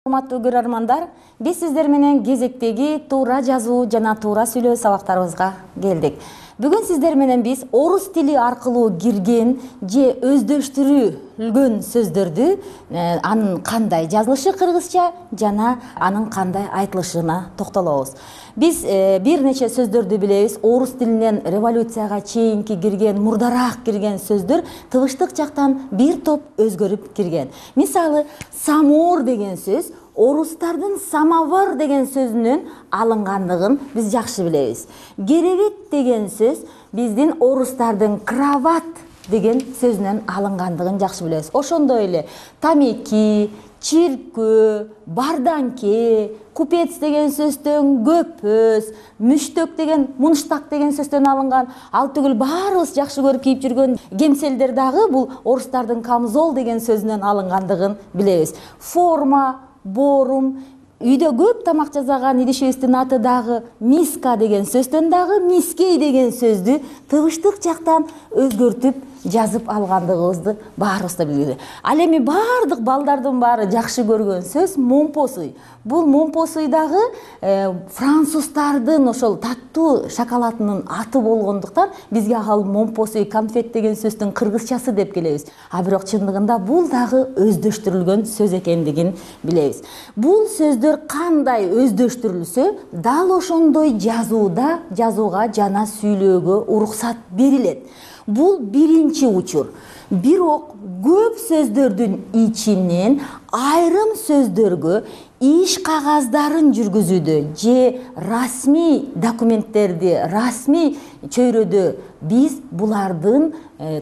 Урматтуу көрөрмандар, биз сиздер менен кезектеги туура жазуу жана туура сүйлөө сабактарыбызга келдик. Бүгүн сиздер менен биз орус тили аркылуу кирген же өздөштүрүлгөн сөздөрдү анын кандай жазылышы кыргызча жана анын кандай айтылышына токтолобуз. Биз бир нече сөздөрдү билебиз. Орус тилинен революцияга чейинки кирген, мурдараак кирген сөздөр тыбыштык жактан бир топ өзгөрүп кирген. Мисалы, самор деген сөз орустардын самовар деген сөзүнөн алынгандыгын биз жакшы билебиз. Керебет деген сөз биздин орустардын кроват деген сөзүнөн алынгандыгын жакшы билебиз. Ошондой эле тамеки, чиркөө, барданке, купец деген сөздөн көпөз, мүштөк деген, мунштак деген сөздөн алынган. Ал түгүл баарыбыз жакшы көрүп кийип жүргөн кемселдер дагы бул орустардын камзол деген сөзүнөн алынгандыгын билебиз. Форма, борум, үйдө көп тамак жасаган идишибиздин аты дагы миска деген сөздөн дагы мискей деген сөздү тыбыштык жактан өзгөртүп жазып алгандыгыбызды баарыбыз да билебиз. Ал эми баардык балдардын баары жакшы көргөн сөз момпосуй. Бул момпосуй дагы француздардын ошол таттуу шоколадынын аты болгондуктан бизге ал момпосуй конфет деген сөздүн кыргызчасы деп келебиз. А бирок чындыгында бул дагы өздөштүрүлгөн сөз экендигин билебиз. Бул сөздөр кандай өздөштүрүлсө, дал ошондой жазууга жана сүйлөөгө уруксат берилет. Бул биринчи учур. Бирок көп сөздөрдүн ичинен айрым сөздөргө иш кагаздарын жүргүзүүдө же расмий документтерди, расмий чөйрөдө биз булардын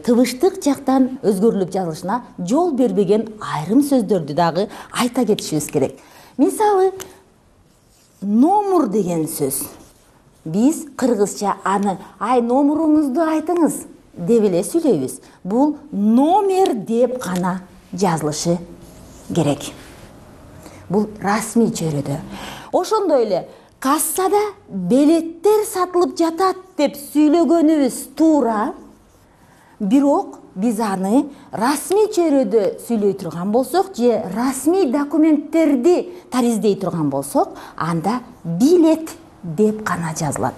тыбыштык жактан өзгөрүлүп жазылышына жол бербеген айрым сөздөрдү дагы айта кетишибиз керек. Мисалы, номур деген сөз. Биз кыргызча аны "Ай, номуруңузду айтыңыз" деп эле сүйлөйбүз. Бул номер деп гана жазылышы керек. Бул расмий чөйрөдө. Ошондой эле кассада билеттер сатылып жатат деп сүйлөгөнүбүз туура. Бирок биз аны расмий чөйрөдө сүйлөй турган болсок же расмий документтерди тариздей турган болсок, анда билет деп гана жазылат.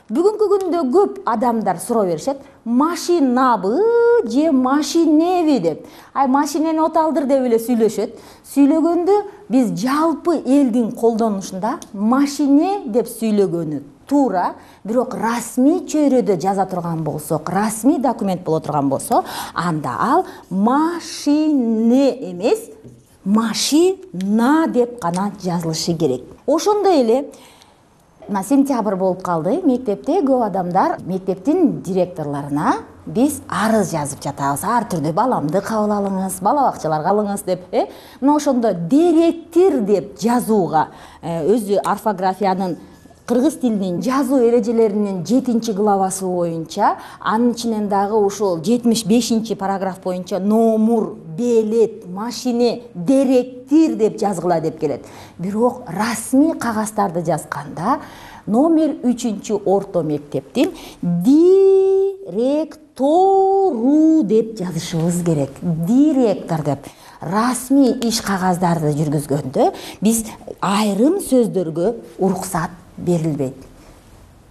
Бүгүнкү күндө көп адамдар суроо беришет: машинабы же машинеби деп. Ай, машинени оталдыр деп эле сүйлөшөт. Сүйлөгөндө биз жалпы элдин колдонушунда машине деп сүйлөгөнү туура, бирок расмий чөйрөдө жаза турган болсок, расмий документ боло турган болсо, анда ал машине эмес, машина деп гана жазылышы керек. Ошондой эле сентябрь болуп калды. Мектепте көп адамдар мектептин директорлоруна биз арыз жазып жатабыз. Ар түрдүү баламды кабыл алыңыз, бала бакчаларга алыңыз деп. Мына ошондо директир деп жазууга өзү орфографиянын кыргыз тилинин жазуу эрежелеринин 7-главасы боюнча, анын ичинен дагы ушул 75-параграф боюнча номур, билет, машине, директир деп жазгыла деп келет. Бирок расмий кагаздарды жазганда номер 3-орто мектептин директору деп жазышыбыз керек. Директор деп. Расмий иш кагаздарды жүргүзгөндө биз айрым сөздөргө уруксат берилбейт.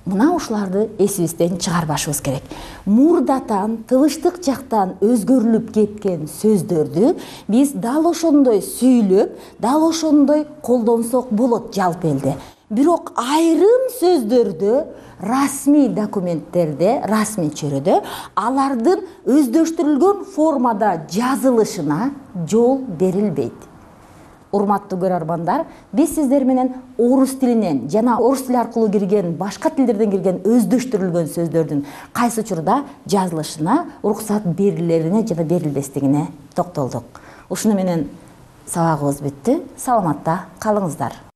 Мына ушуларды эсибизден чыгарбашыбыз керек. Мурдатан, тыбыштык жактан өзгөрүлүп кеткен сөздөрдү биз дал ошондой сүйлөп, дал ошондой колдонсок болот жалпы элде. Бирок айрым сөздөрдө, расмий документтерде, расмий чөйрөдө алардын өздөштүрүлгөн формада жазылышына жол берилбейт. Урматтуу көрөрмандар, биз сиздер менен орус тилинен жана орус тили аркылуу кирген, башка тилдерден кирген өздөштүрүлгөн сөздөрдүн кайсы учурда жазылышына уруксат берилерине жана берилбестигине токтолдук. Ушуну менен сабагыбыз бүттү. Саламатта калыңыздар.